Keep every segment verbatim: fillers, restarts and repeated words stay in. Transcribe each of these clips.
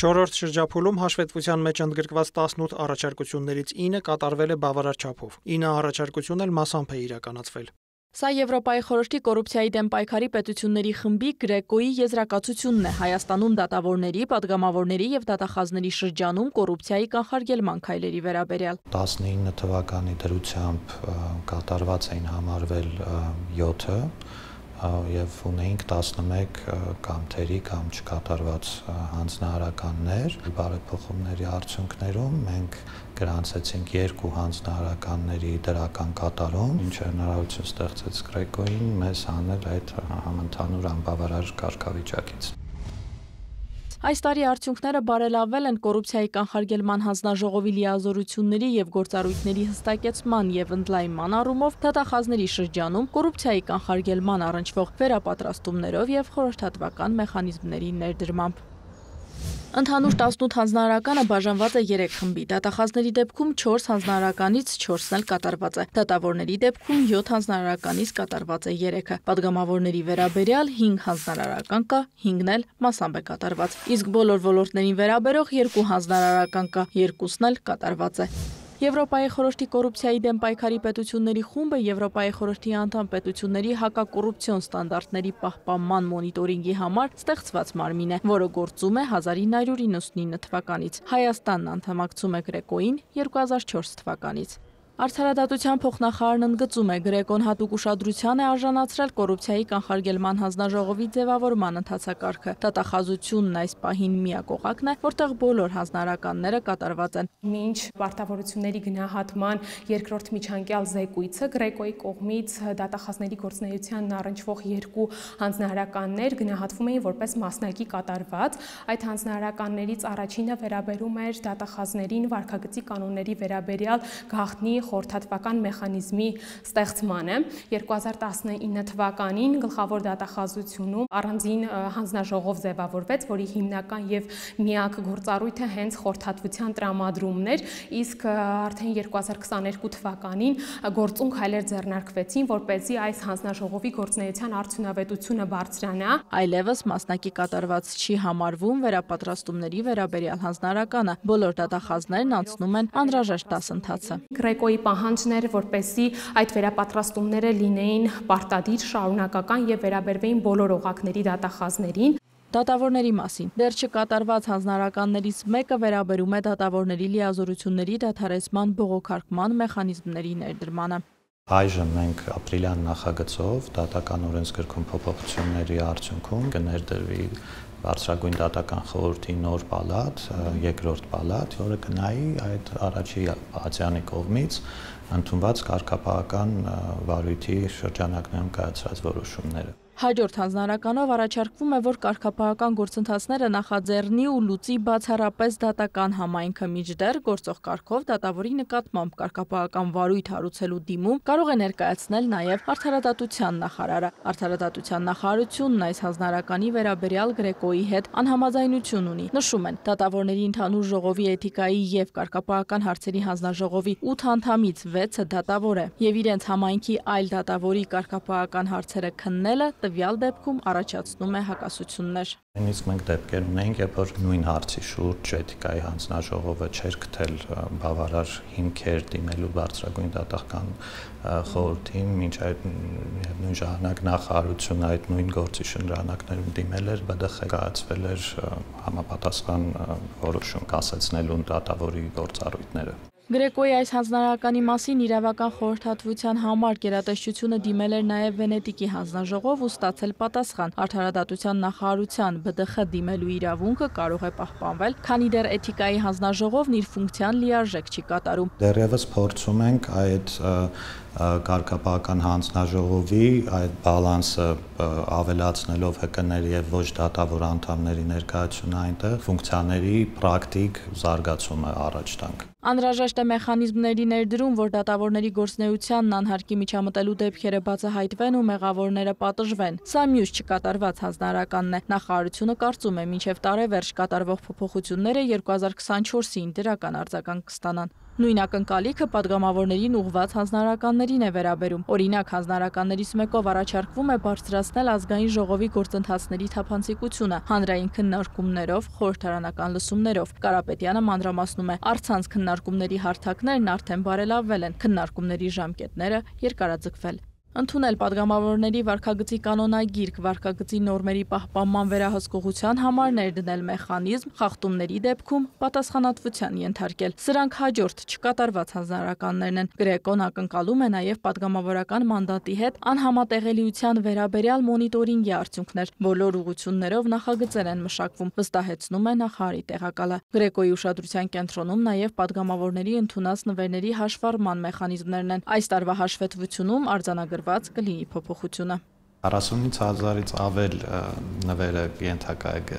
Չորրորդ շրջափուլում հաշվետվության մեջ ընդգրկված տասնութ առաջարկություններից ինը կատարվել է բավարար չափով, ինը առաջարկություն էլ մասամբ է իրականացվել։ Սա Եվրոպայի խորհրդի կոռուպցիայի դեմ պայքարի պետությունների խմբի Գրեկոյի եզրակացությունն է Հայաստանում դատավորների, падգամավորների եւ դատախազների շրջանում կոռուպցիայի կանխարգելման քայլերի վերաբերյալ։ տասնինը թվականի դրությամբ կատարված էին համարվել յոթը եւ ունեինք տասնմեկ կամ թերի կամ չկատարված հանձնարարականներ։ Բարեփոխումների արդյունքներում մենք գրանցեցինք երկու հանձնարարականների դրական կատարում, ինչը հնարավորություն ստեղծեց Գրեկոյին մեզ հանել այդ համընդհանուր անբավարար կարգավիճակից։ Այս տարի արդյունքները բարելավվել են կոռուպցիայի կանխարգելման հանձնաժողովի լիազորությունների եւ գործառույթների հստակեցման եւ ընդլայնման առումով դատախազների շրջանում կոռուպցիայի կանխարգելման առնչվող վերապատրաստումներով եւ խորհրդատվական մեխանիզմների ներդրմամբ։ Ընդհանուր տասնութ հանձնարարականը բաժանված է երեք խմբի, դատախազների դեպքում չորս հանձնարարականից չորսն էլ կատարված է, դատավորների դեպքում յոթ հանձնարարականից կատարված է երեքը, падգամավորների վերաբերյալ հինգ հանձնարարական կա, հինգն էլ մասամբ է կատարված, իսկ բոլոր ոլորտներին վերաբերող երկու հանձնարարական կա, երկուսն էլ կատարված է։ Եվրոպայի խորհրդի կոռուպցիայի դեմ պայքարի պետությունների խումբը Եվրոպայի խորհրդի անդամ պետությունների հակակոռուպցիոն ստանդարտների պահպանման մոնիտորինգի համար ստեղծված մարմին է, որը գործում է հազար ինը հարյուր իննսունինը թվականից։ Հայաստանն անդամակցում է Գրեկոյին երկու հազար չորս թվականից։ Արդարադատության փոխնախարարն ընդգծում է, Գրեկոն հատուկ ուշադրության է արժանացրել կոռուպցիայի կանխարգելման հանձնաժողովի ձևավորման ընթացակարգը։ Դատախազությունն այս պահին միակ օղակն է, որտեղ բոլոր հանձնարարականները կատարված են։ Մինչ պարտավորությունների գնահատման երկրորդ միջանկյալ զեկույցը Գրեկոյի կողմից դատախազների գործունեությանն առնչվող երկու հանձնարարականներ գնահատվում էին որպես մասնակի կատարված։ Այդ հանձնարարականներից առաջինը վերաբերում էր դատախազներին վարքագծի կանոնների վերաբերյալ գաղտնի խորհրդատվական մեխանիզմի ստեղծմանը։ երկու հազար տասնինը թվականին գլխավոր դատախազությունում առանձին հանձնաժողով ձևավորվեց, որի հիմնական եւ միակ գործառույթը հենց խորհրդատվության տրամադրումն էր, իսկ արդեն երկու հազար քսաներկու թվականին գործուն քայլեր ձեռնարկվեցին, որպեսզի այս հանձնաժողովի գործունեության արդյունավետությունը բարձրանա։ Այլևս մասնակի կատարված չի համարվում վերապատրաստումների վերաբերյալ հանձնարարականը, բոլոր դատախազներն անցնում են անհրաժեշտ դասընթացը։ Գրեկոյի պահանջն էր, որպեսզի այդ վերապատրաստումները լինեին պարտադիր, շարունակական եւ վերաբերվեին բոլոր օղակների դատախազներին։ Դատավորների մասին դեռ չկատարված հանձնարարականներից մեկը վերաբերում է դատավորների լիազորությունների դադարեցման բողոքարկման մեխանիզմների ներդրմանը։ Այժմ մենք ապրիլյան նախագծով դատական օրենսգրքում փոփոխությունների արդյունքում կներդրվի բարձրագույն դատական խորհրդի նոր պալատ, երկրորդ պալատ, որը կնայի այդ առաջի պալատյանի կողմից ընդունված կարգապահական վարույթի շրջանակներում կայացրած որոշումները։ Հաջորդ հանձնարարականով առաջարկվում է, որ կարգապահական գործընթացները նախաձեռնի ու լուծի բացառապես դատական համայնքը, մինչդեռ գործող կարգով դատավորի նկատմամբ կարգապահական վարույթ հարուցելու դիմում կարող է ներկայացնել նաև արդարադատության նախարարը։ Արդարադատության նախարարությունն այս հանձնարարականի վերաբերյալ Գրեկոյի հետ անհամաձայնություն ունի։ Նշում են, դատավորների ընդհանուր ժողովի էթիկայի եւ կարգապահական հարցերի հանձնաժողովի ութ անդամից վեցը դատավոր է եւ իրենց համայնքի այլ դատավորի կարգապահական հարցերը քննելը տվյալ դեպքում առաջացնում է հակասություններ։ Նույնիսկ մենք դեպքեր ունենք, երբ որ նույն հարցի շուրջ էթիկայի հանձնաժողովը չէր գտել բավարար հիմքեր դիմելու բարձրագույն դատական խորհրդին, մինչ այդ նույն ժամանակ նախարարությունը այդ նույն գործի շրջանակներում դիմել էր, ԲԴԽ կայացվել էր համապատասխան որոշում կասեցնելու դատավորի գործառույթները։ Գրեկոյի այս հանձնարարականի մասին իրավական խորհրդատվության համար գերատեսչությունը դիմել էր նաև Վենետիկի հանձնաժողով ու ստացել պատասխան։ Արդարադատության նախարարության ԲԴԽ դիմելու իրավունքը կարող է պահպանվել, քանի դեռ էթիկայի հանձնաժողովն իր ֆունկցիան լիարժեք չի կատարում։ Դեռևս փորձում ենք այդ կարգապահական հանձնաժողովի այդ բալանսը ավելացնելով ՀԿ-ների եւ ոչ դատավոր անդամների ներկայությունը այնտեղ ֆունկցիաների պրակտիկ զարգացումը առաջ տանք։ Անհրաժեշտ է մեխանիզմների ներդրում, որ դատավորների գործունեությանն անհարկի միջամտելու դեպքերը բացահայտվեն ու մեղավորները պատժվեն։ Սա մյուս չկատարված հանձնարարականն է։ Նախարարությունը կարծում է, մինչև տարեվերջ կատարվող փոփոխությունները երկու հազար քսանչորսին դրական արձագանք կստանան։ Նույն ակնկալիքը падգամավորներին ուղղված հանձնարարականներին է վերաբերում։ Օրինակ, հանձնարարականներից մեկով առաջարկվում է բարձրացնել ազգային ժողովի գործընթացների թափանցիկությունը հանրային քննարկումներով, խորհրդարանական լսումներով։ Կարապետյանը մանրամասնում է, առցանց քննարկումների հարթակներն արդեն բարելավվել են, քննարկումների ժամկետները երկարաձգվել։ Ընդունել падգամավորների վարքագծի կանոնագիրք, վարքագծի նորմերի պահպանման վերահսկողության համար ներդնել մեխանիզմ, խախտումների դեպքում պատասխանատվության ենթարկել։ Սրանք հաջորդ չկատարված հանձնարարականներն են։ Գրեկոն ակնկալում է նաև падգամավորական մանդատի հետ անհամատեղելիության վերաբերյալ մոնիտորինգի արդյունքներ։ Բոլոր ուղղություններով նախագծեր են մշակվում, վստահեցնում է նախարարի տեղակալը։ Գրեկոյի ուշադրության կենտրոնում նաև падգամավորների ընդունած նվերների հաշվառման մեխանիզմներն են։ Այս տարվա հաշվետվությունում արձանագրված կլինի փոփոխությունը։ քառասունից հազարից ավել նվերը ենթակա է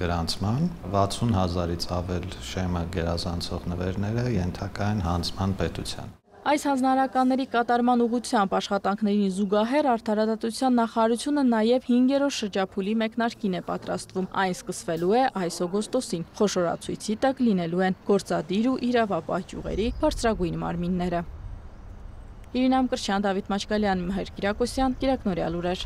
գրանցման, վաթսուն հազարից ավել շեմը գերազանցող նվերները ենթակա են հանձնման պետության։ Այս հանձնարարականների կատարման ուղղությամբ աշխատանքներին զուգահեռ Արդարադատության նախարարությունը նաև հինգերորդ շրջափուլի մեկնարկին է պատրաստվում։ Այն սկսվելու է այս օգոստոսին։ Խոշորացույցի տակ լինելու են գործադիր ու իրավապահ ճյուղերի բարձրագույն մարմինները։ Իրինա Մկրտչյան, Դավիթ Մաչկալյան, Մհեր Կիրակոսյան, Կիրակնորյալ լուրեր։